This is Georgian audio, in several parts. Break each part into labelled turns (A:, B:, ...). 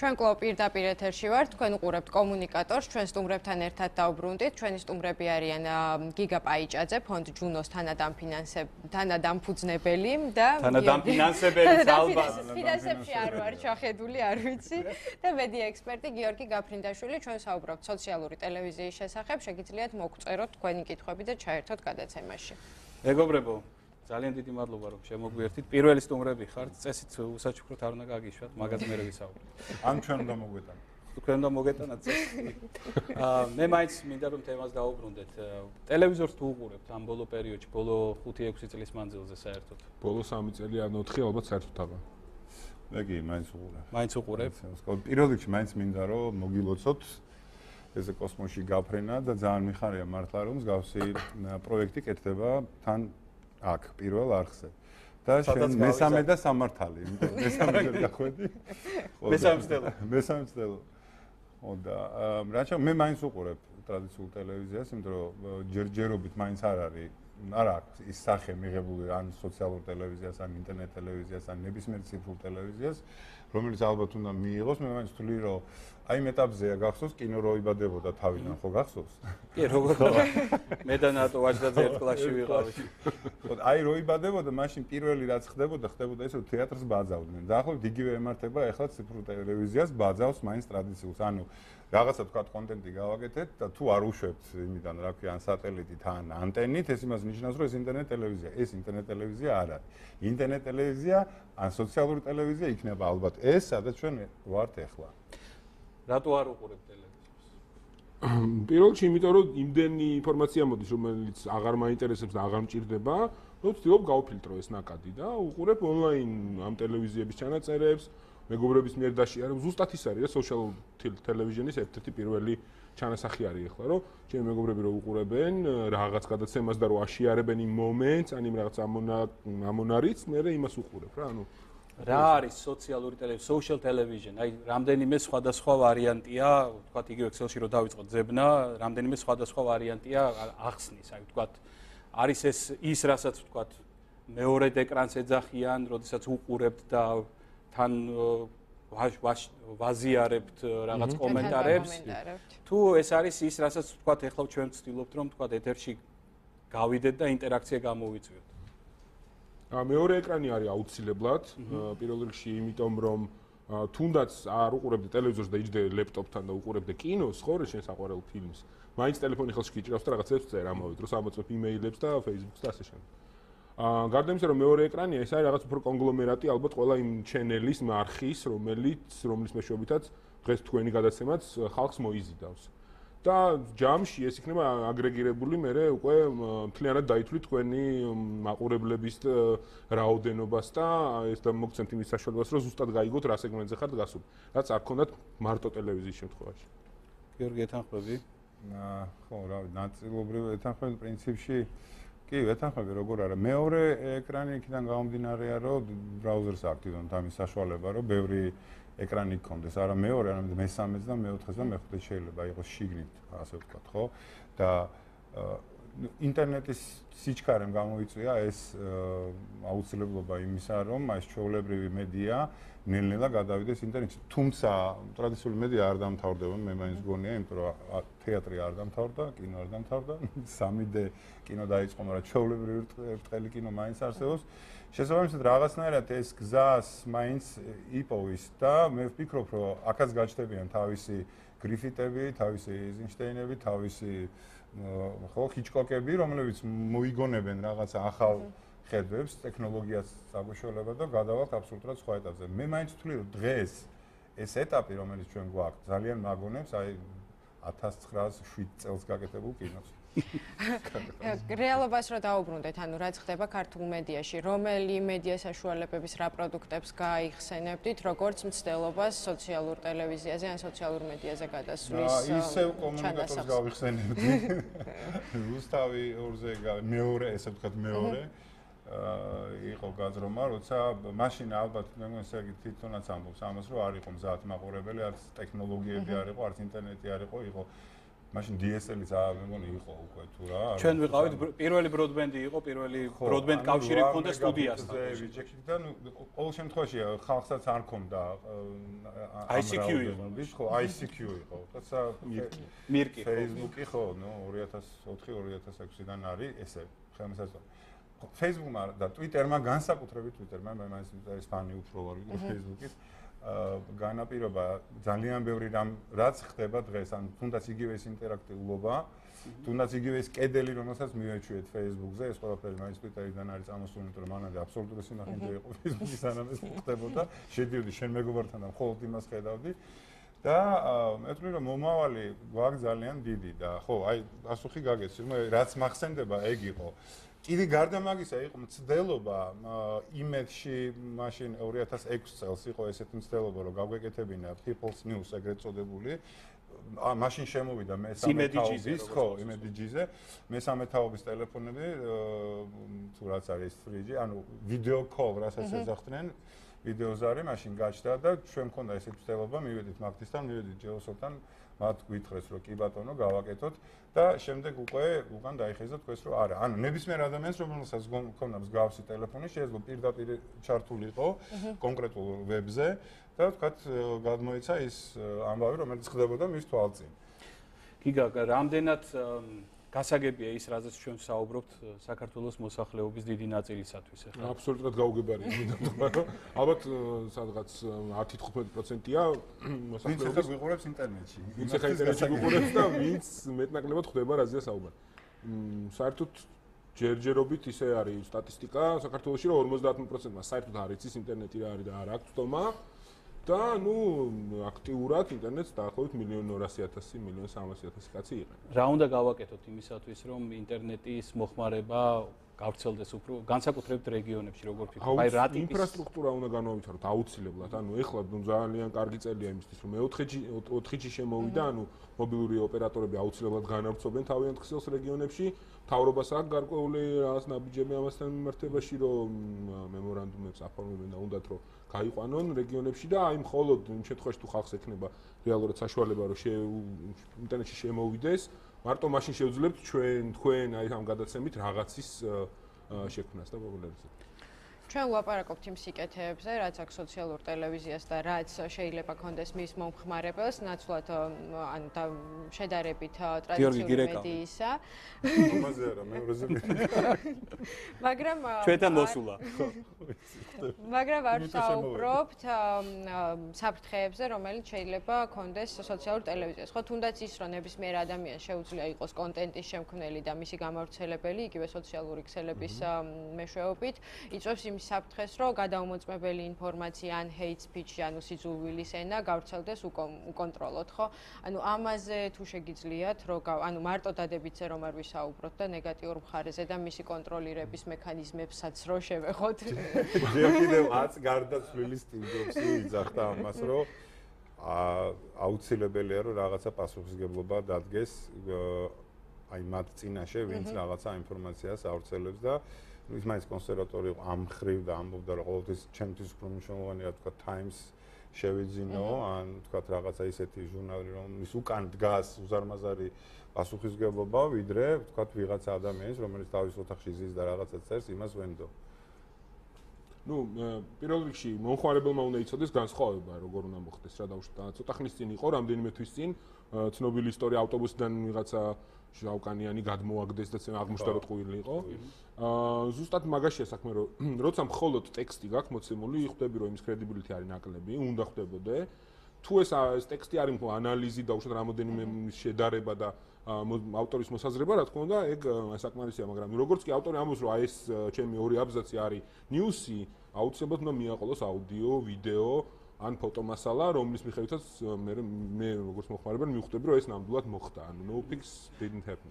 A: ჩვენ კლუბ პირდაპირ ეთერში ვართ, თქვენ უყურებთ კომუნიკატორს, ჩვენ სტუმრებთან ერთად დავბრუნდით. ჩვენი სტუმრები არიან გიგა პაიჭაძე, ფონდ ჯუნოს თანადამფუძნებელი და
B: თანადამფინანსებელი ალბათ.
A: ფინანსებში არ ვარ ჩახედული, არ ვიცი. და მედია ექსპერტი გიორგი გაფრინდაშვილი, ჩვენ საუბრობთ სოციალური ტელევიზიის შესახებ, შეგიძლიათ მოგწეროთ თქვენი კითხვები და ჩაერთოთ გადაცემაში.
B: მეგობრებო, ძალიან დიდი მადლობა რომ შემოგვიერთით. პირველი სტუმრები ხართ, წესით უსაჩუქროთ არ უნდა გაგიშვათ, მაგაზე მე ვისაუბრებ.
C: ამ ჩვენ უნდა მოგვეტანოთ.
B: თქვენ უნდა მოგეტანათ წესი. მე მაინც მინდა რომ თემას დავუბრუნდეთ. ტელევიზორს თუ უყურებთ ამ ბოლო პერიოდში, ბოლო 5-6 წლის მანძილზე საერთოდ?
D: ბოლო 3 წელი ან 4 ალბათ საერთოდ აბა.
C: მე კი მაინც უყურებ.
B: მაინც უყურებ?
C: პირველ რიგში მაინც მინდა რომ მოგილოცოთ ესე კოსმოსში გაფრენა და ძალიან მიხარია მართლა რომ მსგავსი პროექტი კეთდება თან აქ პირველ არხზე. და შენ მესამე და სამართალი, მესამე დახვედი. მესამე წელო. და რაჩა მე მაინც უყურებ ტრადიციულ ტელევიზიას, იმიტომ რომ ჯერჯერობით მაინც არ არის ის სახე მიღებული ან სოციალურ ტელევიზიას, ან ინტერნეტ ტელევიზიას, ან ნებისმიერ ციფრულ ტელევიზიას, რომელიც ალბათ უნდა მიიღოს. მე მაინც ვთვლი, რომ აი ამ ეტაპზეა გახსოვს კინო რო იბადებოდა თავიდან, ხო გახსოვს?
B: კი, როგორ მე და ნატო ვაჟდაძე ერთ კლასში ვიყავით.
C: აი რო იბადებოდა, მაშინ პირველი რაც ხდებოდა ის რომ თეატრს ბაძავდნენ. დაახლოებით იგივე ემართება ახლა ციფრულ ტელევიზიას ბაძავს მაინც ტრადიციულს. ანუ რაღაცა თქვა კონტენტი გავაკეთეთ და თუ არ უშვებთ იმიდან რა ქვია ან სატელიტით ან ანტენით, ეს იმას ნიშნავს რომ ეს ინტერნეტ ტელევიზია. ეს ინტერნეტ ტელევიზია არ არის. ინტერნეტ ტელევიზია ან სოციალური ტელევიზია იქნება ალბათ ეს, სადაც ჩვენ ვართ ახლა.
B: რატო არ უყურებთ ტელევიზორს?
D: პირველ რიგში იმიტომ რომ იმდენი ინფორმაცია მოდის, რომელიც აღარ მაინტერესებს და აღარ მჭირდება, რომ ვცდილობ გავფილტრო ეს ნაკადი და უყურებ ონლაინ ამ ტელევიზიების ჩანაწერებს. მეგობრების მიერ დაშიარებ, ზუსტად ის არის რა social television-ის ერთ-ერთი პირველი ჩანასახი არის ახლა, რომ ჩემი მეგობრები რო უყურებენ რაღაც გადაცემას და რო აშიარებენ იმ მომენტს, ან იმ რაღაც ამონარიც, მე იმას უყურებ რა, ანუ
B: რა არის სოციალური ტელევიზია, social television? აი, რამდენიმე სხვადასხვა ვარიანტია, ვთქვათ, იგივე Excel-ში რო დავიწყოთ ძებნა, რამდენიმე სხვადასხვა ვარიანტია ახსნის, აი, ვთქვათ, არის ის რასაც ვთქვათ, მეორედ ეკრანს ეძახიან, როდესაც უყურებთ და თან ვაზიარებთ რაღაც კომენტარებს. თუ ეს არის ის, რასაც ვთქვათ, ეხლა ჩვენ ვცდილობთ რომ ვთქვათ ეთერში გავიდეთ და ინტერაქცია გამოვიწვიოთ.
D: მეორე ეკრანი არის აუცილებლად, პირველ რიგში იმიტომ რომ თუნდაც არ უყურებდე ტელევიზორს და იჯდე ლეპტოპთან და უყურებდე კინოს, ხო, შენ საყვარელ ფილმს. მაინც ტელეფონი ხელში გიჭირავს და რაღაცებს წერა ამავე დროს, ამოწმებ იმეილებს და Facebook-ს და ასე შემდეგ. გარდა იმისა, რომ მეორე ეკრანია, ეს არის რაღაც უფრო კონგლომერატი, ალბათ ყველა იმ ჩენელის მარხის, რომლის მეშვეობითაც დღეს თქვენი გადაცემაც ხალხს მოიზიდავს. და ჯამში ეს იქნება აგრეგირებული, მერე უკვე მთლიანად დაითვლით თქვენი მაყურებლების რაოდენობას და ეს და მოგცემთ იმის საშუალებას, რომ ზუსტად გაიგოთ რა სეგმენტზე ხართ გასული, რაც არ ქონდათ მარტო ტელევიზიის შემთხვევაში.
B: გიორგი ეთანხმები?
C: ხო, რა ვიცი, ნაწილობრივ ეთანხმები პრინციპში კი, ეთანხმები როგორ არა. მეორე ეკრანი იქიდან გამომდინარეა, რომ ბრაუზერს აქტივდან ამის საშუალება, რომ ბევრი ეკრანი გქონდეს, არა მეორე, არამედ მესამეც და მეოთხეც და მეხუთეც შეიძლება იყოს შიგნით, ასე ვთქვათ, ხო? და ინტერნეტის სიჩქარემ გამოიწვია ეს აუცილებლობა იმისა, რომ ეს ჩვეულებრივი მედია ნელ-ნელა გადავიდეს ინტერნეტში. თუმცა ტრადიციული მედია არ დამთავრდება, მე მაინც გონია, იმიტომ რომ თეატრი არ დამთავრდა, კინო არ დამთავრდა, 3D კინო დაიწყო, მაგრამ ჩვეულებრივი ბრტყელი კინო მაინც არსებობს. შესაბამისად რაღაცნაირად ეს გზას მაინც იპოვის და მე ვფიქრობ, რომ აქაც გაჩნდებიან თავისი გრიფიტები, თავისი ეიზენშტეინები, თავისი ხო ჰიჩკოკები, რომლებიც მოიგონებენ რაღაცა ახალ ხედვებს, ტექნოლოგიას საგუშველება და გადავალთ აბსოლუტურად სხვა ეტაპზე. მე მაინც ვთვლი, რომ დღეს ეს ეტაპი, რომელიც ჩვენ გვაქვს, ძალიან მაგონებს აი 1907 წელს გაკეთებულ კინოს.
A: რეალობას რო დაუბრუნდეთ, ანუ რაც ხდება ქართულ მედიაში, რომელი მედია საშუალებების რა პროდუქტებს გაიხსენებდით, როგორც მცდელობას სოციალურ ტელევიზიაზე ან სოციალურ მედიაზე გადასვლის
C: ისევ კომუნიკატორს გავიხსენებდი. რუსთავი ორზე მეორე, ესე ვთქვათ მეორე იყო გაზრომა, როცა მაშინ ალბათ მე მგონი ესე იგი თვითონაც ამბობს ამას, რომ არ იყო მზად მაყურებელი, არც ტექნოლოგიები არ იყო, არც ინტერნეტი არ იყო, იყო მაშინ DSL-იც მე მგონი იყო უკვე თუ რა.
B: ჩვენ ვიყავით პირველი ბროდბენდი იყო, პირველი ბროდბენდ კავშირი მქონდა სტუდიასთან.
C: და ყოველ შემთხვევაში ხალხსაც არ ქონდა
B: ICQ იყო.
C: ხო, ICQ იყო. თორსა
B: მირკი.
C: Facebook-ი ხო, 2004-2006-დან არის ესე ხელმისაწვდომი. Facebook-მა და Twitter-მა განსაკუთრებით Twitter-მა მე მაინც ფანი უფრო ვარ ვიდრე Facebook-ის. განაპირობა ძალიან ბევრი რამ რაც ხდება დღეს ან თუნდაც იგივე ეს ინტერაქტიულობა თუნდაც იგივე ეს კედელი რომელსაც მივეჩვიეთ Facebook-ზე ეს ყველაფერი მაინც Twitter-დან არის წამოსული იმიტომ რომ მანამდე აბსოლუტური სინახინჯე იყო Facebook-ის სანამ ეს ხდებოდა შედიოდი შენ მეგობართან და მხოლოდ იმას ხედავდი და მე ვთვლი რომ მომავალი გვაქვს ძალიან დიდი და ხო აი პასუხი გაგეცი რაც მახსენდება ეგ იყო კიდე გარდა მაგისა იყო მცდელობა იმედში მაშინ 2006 წელს იყო ესეთი მცდელობა რომ გავგეკეთებინა People's News ეგრეთ წოდებული მაშინ შემოვიდა მესამე თაობის ხო იმედიჯიზე მესამე თაობის ტელეფონები თუ რაც არის 3G ანუ ვიდეო კოლ რასაც ეძახდნენ ვიდეოზარი მაშინ გაჩნდა და ჩვენ მქონდა ესეთი მცდელობა მივედით მაგთისთან მივედით ჯეოსოთან მათ გვითხრეს რომ კი ბატონო გავაკეთოთ და შემდეგ უკვე უკან დაიხეზა თქვენს რომ არა ანუ ნებისმიერ ადამიანს რომელსაც მქონდა მსგავსი ტელეფონი შეიძლება პირდაპირ ჩართულიყო კონკრეტულ ვებზე და თქვათ გადმოიცა ის ამბავი რომელიც ხდებოდა მის თვალწინ
B: გიგა რამდენად გასაგებია ის რაზეც ჩვენ საუბრობთ საქართველოს მოსახლეობის დიდი ნაწილისათვის ახლა
D: აბსოლუტურად გაუგებარია მინდა თქვა რომ ალბათ სადღაც 10-15%-ია
C: მოსახლეობის ვინც ვიყურებს ინტერნეტში
D: ვინც ახლა ინტერნეტში ვიყურებს და ვინც მეტნაკლებად ხდება რაზეა საუბარი საერთოდ ჯერჯერობით ისე არის სტატისტიკა საქართველოში რომ 50%-მა საერთოდ არ იცის ინტერნეტი რა არის და არ აქვს თომა და ნუ აქტიურად ინტერნეტს დაახლოებით 1.200.000 1.300.000 კაცი იყენებს.
B: რა უნდა გავაკეთოთ იმისათვის რომ ინტერნეტის მოხმარება გავრცელდეს უფრო განსაკუთრებით რეგიონებში როგორ ფიქრობ?
D: აი რა ტიპის ინფრასტრუქტურა უნდა განავითაროთ აუცილებლად. ანუ ეხლა ძალიან კარგი წელია იმისთვის რომ 4G შემოვიდა, ანუ მობილური ოპერატორები აუცილებლად განავრცობენ თავიანთ ქსელს რეგიონებში. მთავრობას აქვს გარკვეული რაღაც ნაბიჯები ამასთან მიმართებაში რომ მემორანდუმებს აფორმებენ და უნდათ რომ გაიყვანონ რეგიონებში და აი მხოლოდ იმ შემთხვევაში თუ ხალხს ექნება რეალურად საშუალება რომ ინტერნეტში შემოვიდეს მარტო მაშინ შევძლებთ თქვენ აი ამ გადაცემით რაღაცის შექმნას და პოპულარიზაციას
A: ჩვენ ვლაპარაკობთ იმ სიკეთეებზე, რაც აქვს სოციალურ ტელევიზიას და რაც შეიძლება კონდეს მის მომხმარებელს, ნაცვლად ან და შედარებით ტრადიციული მედიისა.
C: ამაზე არა, მეორეზე.
A: მაგრამ
B: ჩვენთან მოსულა.
A: მაგრამ არ საუბრობთ საფრთხეებზე, რომელიც შეიძლება კონდეს სოციალურ ტელევიზიას. ხო, თუნდაც ის, რომ ნებისმიერ ადამიანს შეუძლია იყოს კონტენტის შემქმნელი და მისი გამავრცელებელი, იგივე სოციალური ქსელების მეშვეობით, იწვევს იმ საფრთხეს, რომ გადაუმოწმებელი ინფორმაცია ან hate speech, ანუ სიძულვილის ენა გავრცელდეს უკონტროლოდ, ხო? ანუ ამაზე თუ შეგიძლიათ, რომ ანუ მარტო დადებითზე რომ არ ვისაუბროთ და ნეგატიურ მხარეზე და მისი კონტროლირების მექანიზმებსაც რო შევეხოთ.
C: კიდევ 10 გარდაცვლილი სტილდოფსი იძახდა ამას, რომ აუცილებელია რომ რაღაცა პასუხისგებლობა დადგეს აი მათ წინაშე, ვინც რაღაცა ინფორმაციას ავრცელებს და ის მაინც კონსერვატორი იყო ამ ხრივ და ამბობდა რომ ყოველთვის ჩემთვის უფრო მნიშვნელოვანია თქვა Times შევიძინო ან თქვა რაღაცა ისეთი ჟურნალი რომლის უკან დგას უზარმაზარი პასუხისგებლობა ვიდრე თქვა ვიღაცა ადამიანის რომელიც თავის ოთახში ზის და რაღაცა წერს იმას ვენდო
D: ნუ პირველ რიგში მომხმარებელმა უნდა იცოდეს განსხვავება როგორ უნდა მოხდეს რა დაუშვათ ცოტა ხნის წინ იყო რამდენიმე თვის წინ ცნობილი ისტორია ავტობუსიდან ვიღაცა ჟავკანიანი გადმოაგდეს და აღმოჩნდა რომ ტყუილი იყო. ზუსტად მაგაშია საქმე რომ როცა მხოლოდ ტექსტი გაქვს მოცემული, ხვდები რომ იმის კრედიბილიტი არის ნაკლები, უნდა ხვდებოდე. თუ ეს ტექსტი არის ანალიზი და უშუალოდ რამოდენიმე შედარება და ავტორის მოსაზრება, რა თქმა უნდა, ეგ საკმარისია, მაგრამ როგორც კი ავტორი ამბობს რომ აი ეს ჩემი ორი აბზაცი არის ნიუსი, აუცილებლად უნდა მიაყოლოს აუდიო, ვიდეო ან ფოტომასალა, რომლის მიხედვითაც მე როგორც მოხმარებელი მივხვდები, რომ ეს ნამდვილად მოხდა. ანუ no pics didn't happen.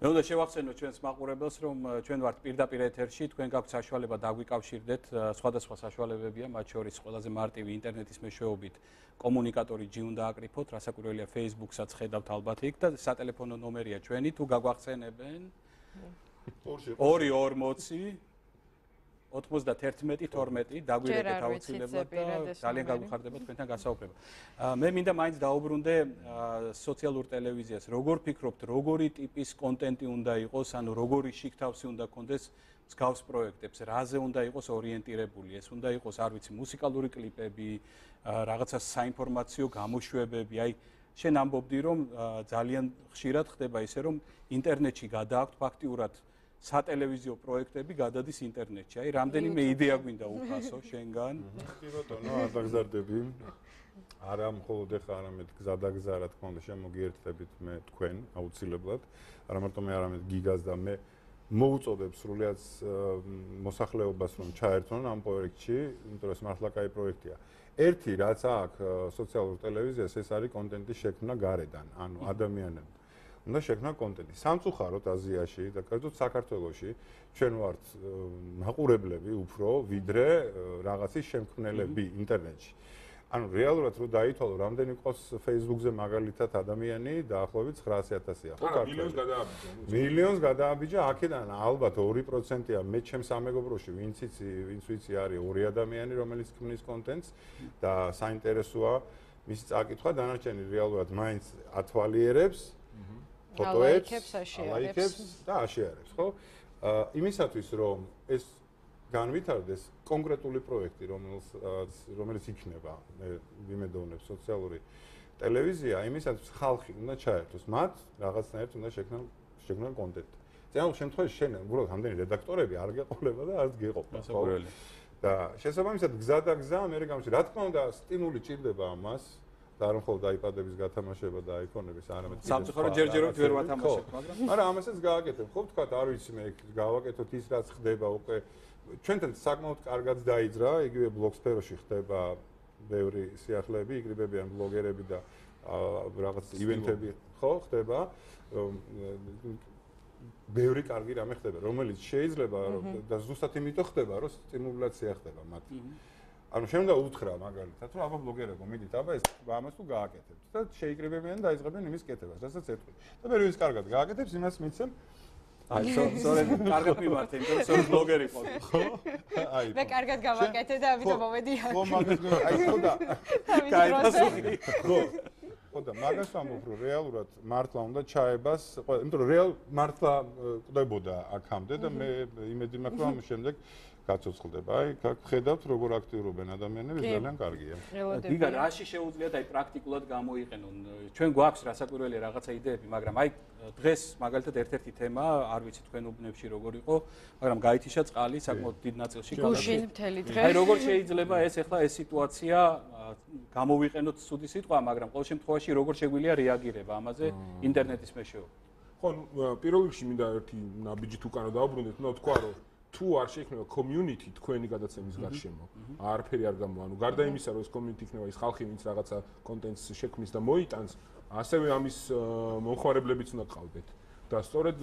B: მე უნდა შევახსენოთ ჩვენს მაყურებელს, რომ ჩვენ ვართ პირდაპირ ეთერში, თქვენ გაქვთ საშუალება დაგვიკავშირდეთ, სხვადასხვა საშუალებებია, მათ შორის ყველაზე მარტივი ინტერნეტის მეშვეობით კომუნიკატორი G უნდა აკრიფოთ, რასაკვირველია Facebook-საც ხედავთ ალბათ იქ და სატელეფონო ნომერია ჩვენი, თუ გაგვახსენებენ 240 91-12 დაგვირეკეთ აუცილებლად და ძალიან გაგვიხარდება თქვენთან გასაუბრება. მე მინდა მაინც დაუბრუნდე სოციალურ ტელევიზიას. როგორ ფიქრობთ, როგორი ტიპის კონტენტი უნდა იყოს, ანუ როგორი შიგთავსი უნდა კონდეს მსგავს პროექტებს, რაზე უნდა იყოს ორიენტირებული? ეს უნდა იყოს, არ ვიცი, მუსიკალური კლიპები, რაღაცა საინფორმაციო გამოშვებები, აი შენ ამბობდი, რომ ძალიან ხშირად ხდება ისე, რომ ინტერნეტში გადააქვთ ფაქტიურად სატელევიზიო პროექტები გადადის ინტერნეტში. აი, რამდენიმე იდეა გვინდა უფასო შენგან?
C: კი ბატონო, არ დაგზარდები. არა მხოლოდ ეხლა, არამედ გზადაგზა, რა თქმა უნდა, შემოგიერთდებით მე თქვენ აუცილებლად. არა მარტო მე, არამედ გიგას და მე მოუწოდებ სრულიად მოსახლეობას, რომ ჩაერთონ ამ პროექტში, იმიტომ რომ ეს მართლა კაი პროექტია. ერთი რაც აქვს სოციალურ ტელევიზიას, ეს არის კონტენტის შექმნა გარედან, ანუ ადამიანები უნდა შექმნა კონტენტი. სამწუხაროდ აზიაში და კერძოდ საქართველოში ჩვენ ვართ მაყურებლები უფრო ვიდრე რაღაცის შემქმნელები ინტერნეტში. ანუ რეალურად რო დაითვალო, რამდენი ყავს Facebook-ზე მაგალითად ადამიანი დაახლოებით 900,000-ია, ხო კარგი? მილიონს გადააბიჯა, აქედან ალბათ 2%-ია მე ჩემს სამეგობროში, ვინც ვიცი არის 2 ადამიანი, რომელიც ქმნის კონტენტს და საინტერესოა მისი წაკითხვა, დანარჩენი რეალურად მაინც ათვალიერებს
A: ფოტოებს
C: და აშეარებს, ხო? იმისათვის რომ ეს განვითარდეს კონკრეტული პროექტი, რომელიც იქნება, მე ვიმედოვნებ სოციალური ტელევიზია, იმისათვის ხალხი უნდა ჩაერთოს, მათ რაღაცნაირად უნდა შექმნან კონტენტი. ზოგადად შემთხვევაში შენ უბრალოდ ამდენი რედაქტორები არ გეყოლება და არც გეყოფა, ხო? და შესაბამისად გზა და გზა მე გამში, რა თქმა უნდა, სტიმული ჭირდება ამას. და არ მხოლოდ აიპადების გათამაშება და აიფონების, არამედ
B: სამწუხაროდ ჯერჯერობით ვერ ვათამაშებ, მაგრამ
C: არა, ამასაც გააკეთებ, ხო ვთქვათ, არ ვიცი მე გავაკეთოთ ის რაც ხდება უკვე ჩვენთან საკმაოდ კარგად დაიძრა, იგივე ბლოგ სფეროში ხდება ბევრი სიახლეები, იკრიბებიან ბლოგერები და რაღაც ივენთები, ხო, ხდება. ბევრი კარგი რამე ხდება, რომელიც შეიძლება და ზუსტად იმიტომ ხდება, რომ სტიმულაცია ხდება მათ. ანუ შენ უნდა უთხრა მაგალითად, რომ აბა ბლოგერებო, მიდით, აბა ეს ამას თუ გააკეთებთ და შეიკრიბებიან და აიწყებენ იმის კეთებას, რასაც ეთქვი. და მე ვინც კარგად გააკეთებს, იმას მიცემ.
B: აი, სწორედ კარგად მიმართე, იმიტომ რომ სულ ბლოგერი ყო.
C: ხო? აი.
A: მე კარგად გავაკეთე და ამიტომ მომედია.
C: ხო, მაგას აი ხო და
B: კაი პასუხი.
C: ხო. ხო და მაგას ვამბობ, რომ რეალურად მართლა უნდა ჩაებას, იმიტომ რომ რეალ მართლა ყდებოდა აქამდე და მე იმედი მაქვს, რომ შემდეგ გაცოცხლდება. აი, ხედავთ როგორ აქტიურობენ ადამიანები, ძალიან კარგია.
B: გიგა, რაში შეუძლიათ აი პრაქტიკულად გამოიყენონ? ჩვენ გვაქვს რასაკვირველია რაღაცა იდეები, მაგრამ აი დღეს მაგალითად ერთ-ერთი თემა, არ ვიცი თქვენ უბნებში როგორ იყო, მაგრამ გაითიშა წყალი საკმაოდ დიდ ნაწილში
A: გუშინ მთელი დღე.
B: აი როგორ შეიძლება ეს ახლა ეს სიტუაცია გამოვიყენოთ ცუდი სიტყვა, მაგრამ ყოველ შემთხვევაში როგორ შეგვიძლია რეაგირება ამაზე ინტერნეტის მეშვეობით?
D: ხო, პირველ რიგში მინდა ერთი ნაბიჯით უკანო დავბრუნდეთ, უნდა თქვა რომ თუ არ შეიქმნება community თქვენი გადაცემის გარშემო, არაფერი არ გამოვა. ანუ გარდა იმისა, რომ ეს community იქნება ის ხალხი, ვინც რაღაცა კონტენტს შექმნის და მოიტანს, ასევე ამის მომხმარებლებიც უნდა ყავდეთ. და სწორედ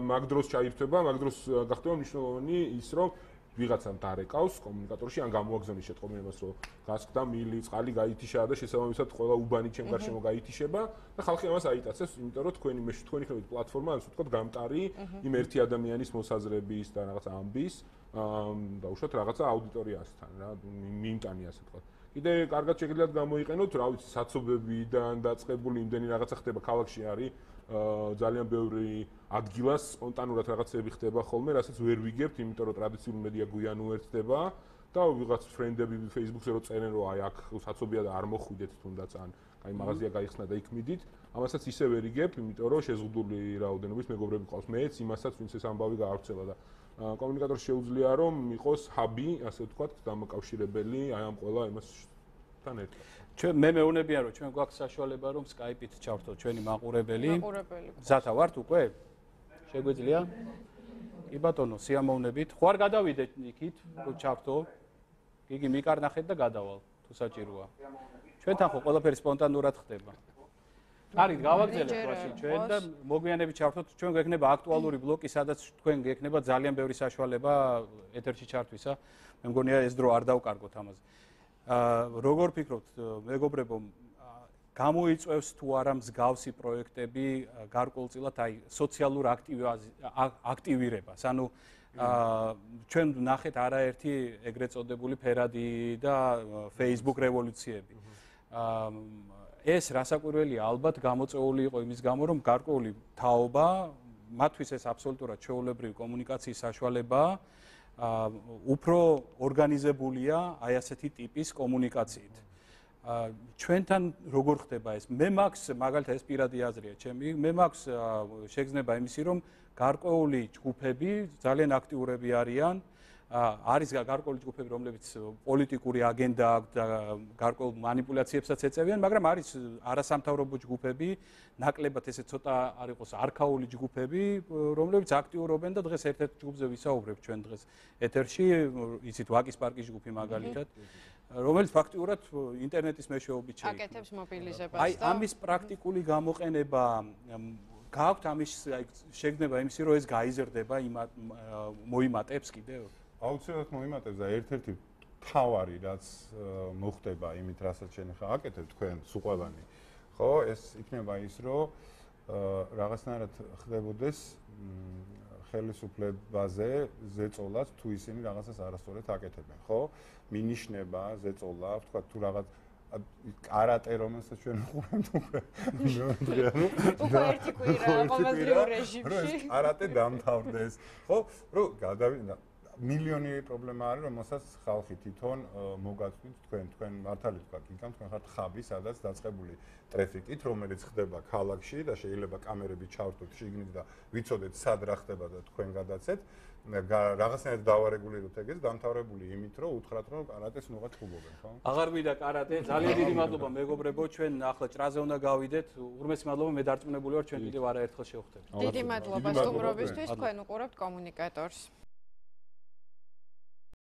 D: მაგ დროს ჩაირთვება, მაგ დროს გახდება მნიშვნელოვანი ის, რომ ვიღაცამ დარეკავს კომუნიკატორში, ან გამოაგზავნის შეტყობინებას, რომ გასკდა მილი, წყალი გაითიშა და შესაბამისად ყველა უბანი ჩემ გარშემო გაითიშება და ხალხი ამას აიტაცებს, იმიტომ რომ თქვენი ხებით პლატფორმა, ასე ვთქვათ, გამტარი იმ ერთი ადამიანის მოსაზრების და რაღაც ამბის და უშუალოდ რაღაცა აუდიტორიასთან რა, მიიმტანი ასე ვთქვათ. კიდე კარგად შეგიძლიათ გამოიყენოთ, რა ვიცი, საცობებიდან დაწყებული იმდენი რაღაცა ხდება ქალაქში არის ძალიან ბევრი ადგილას სპონტანურად რაღაცები ხდება ხოლმე, რასაც ვერ ვიგებთ, იმიტომ რომ ტრადიციული მედია გვიან უერთდება და ვიღაც ფრენდები Facebook-ზე რო წერენ, რომ აი აქ საცობია და არ მოხვიდეთ თუნდაც ან აი მაღაზია გაიხსნა და იქ მიდით, ამასაც ისე ვერ იგებ, იმიტომ რომ შეზღუდული რაოდენობის მეგობრები ყავს. მეც იმასაც, ვინც ეს ამბავი გაავრცელა და კომუნიკატორს შეუძლია რომ იყოს ჰაბი, ასე ვთქვათ, დამაკავშირებელი აი ამ ყველა იმასთან ერთად.
B: ჩვენ მე მეუნებიან რომ ჩვენ გვაქვს საშუალება რომ Skype-ით ჩავრთოთ ჩვენი მაყურებელი. ზათა ვართ უკვე? შეგვიძლია? კი ბატონო, სიამოვნებით. ხო არ გადავიდეთ იქით, რომ ჩავრთო? გიგი მიკარნახეთ და გადავალ, თუ საჭიროა. ჩვენთან ხო ყველაფერი სპონტანურად ხდება. არის გავაგზავნეთ რაში ჩვენ და მოგვიანებით ჩავრთოთ, ჩვენ გვექნება აქტუალური ბლოკი, სადაც თქვენ გექნება ძალიან ბევრი საშუალება ეთერში ჩართვისა. მე მგონია ეს დრო არ დავკარგოთ ამაზე. როგორ ფიქრობთ, მეგობრებო, გამოიწვევს თუ არა მსგავსი პროექტები გარკვეულწილად აი სოციალურ აქტივირებას? ანუ ჩვენ ნახეთ არაერთი ეგრეთ წოდებული ფერადი და Facebook რევოლუციები. ეს რასაკვირველია, ალბათ გამოწვეული იყო იმის გამო, რომ გარკვეული თაობა, მათთვის ეს აბსოლუტურად ჩვეულებრივი კომუნიკაციის საშუალებაა, უფრო ორგანიზებულია აი ასეთი ტიპის კომუნიკაციით. ჩვენთან როგორ ხდება ეს? მე მაქვს მაგალითად ეს პირადი აზრია ჩემი, მე მაქვს შეგრძნება იმისი, რომ გარკვეული ჯგუფები ძალიან აქტიურები არიან, არის გარკვეული ჯგუფები, რომლებიც პოლიტიკური აგენდა აქვს და გარკვეულ манипуляციებსაც ეწევიან, მაგრამ არის არასამთავრობო ჯგუფები, ნაკლებად ესე ცოტა არ იყოს არქაული ჯგუფები, რომლებიც აქტიურობენ და დღეს ერთ-ერთ ჯგუფზე ვისაუბრებ ჩვენ დღეს ეთერში, იცით ვაკის პარკის ჯგუფი მაგალითად, რომელიც ფაქტიურად ინტერნეტის მეშვეობით შეიქმნა.
A: აკეთებს მობილიზებას
B: და აი ამის პრაქტიკული გამოყენება გააქვთ ამის შეგრძნება იმისი, რომ ეს გაიზრდება მოიმატებს კიდევ?
C: აუცილებლად მოიმატებს და ერთ-ერთი თავარი რაც მოხდება იმით, რასაც შენ ხა აკეთებ თქვენ სუყვევანი. ხო, ეს იქნება ის, რომ რაღაცნაირად ხდებოდეს ხელისუფლებაზე ზეწოლად თუ ისინი რაღაცას არასწორად აკეთებენ, ხო? მინიშნება ზეწოლა, თქვა თუ რაღაც კარატე რომელსაც ჩვენ ვუყურებთ უკვე
A: ერთი კვირა ყოველდღიურ რეჟიმში
C: კარატე დამთავრდეს, ხო? რომ გადავიდა მილიონი პრობლემა არის, რომელსაც ხალხი თვითონ მოგაწვით თქვენ მართალი თქვა, იქამ თქვენ ხართ ხაბი, სადაც დაწყებული ტრაფიკით, რომელიც ხდება ქალაქში და შეიძლება კამერები ჩავრთოთ შიგნით და ვიცოდეთ სად რა ხდება და თქვენ გადაცეთ. რაღაცნაირად დავარეგულიროთ ეგეც, დამთავრებული იმით, რომ უთხრათ, რომ კარატეს ნუღაც ხუბობენ, ხო?
B: აღარ მინდა კარატე, ძალიან დიდი მადლობა მეგობრებო, ჩვენ ახლა ჭრაზე უნდა გავიდეთ. ურმესი მადლობა, მე დარწმუნებული ვარ, ჩვენ კიდევ არაერთხელ შევხვდებით.
A: დიდი მადლობა სტუმრობისთვის, თქვენ უყურებთ კომუნიკატორს.